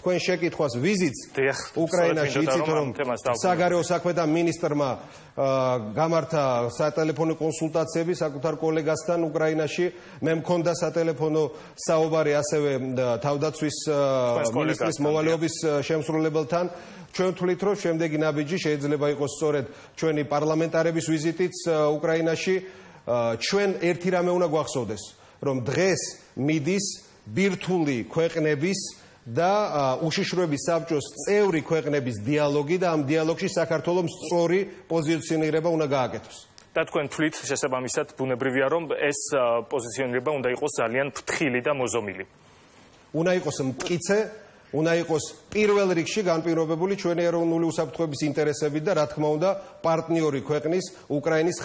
თქვენ შეკითხვას ვიზიტს უკრაინაში იცით რომ საგარეო საქმეთა მინისტრმა გამართა სატელეფონო კონსულტაციები საკუთარ კოლეგასთან უკრაინაში მე მქონდა სატელეფონო საუბარი ასევე თავდაცვის მინისტრის მოვალეობის შემსრულებელთან ჩვენ ვთვლით რომ შემდეგი ნაბიჯი შეიძლება იყოს სწორედ ჩვენი პარლამენტარების ვიზიტიც უკრაინაში ჩვენ ერთი რამე უნდა გვახსოვდეს რომ დღეს მიდის ბირთვული ქვეყნების და უშიშროების საბჭოს წევრი ქვეყნების დიალოგი და ამ დიალოგში საქართველოს სწორი პოზიციონირება უნდა გააკეთოს. და თქვენ თვლით შესაბამისად ბუნებრივია რომ ეს პოზიციონირება უნდა იყოს ძალიან ფრთხილი და მოზომილი. უნდა იყოს მტკიცე, უნდა იყოს პირველ რიგში განპირობებული ჩვენი ეროვნული უსაფრთხოების ინტერესებით და რა თქმა უნდა პარტნიორი ქვეყნის უკრაინის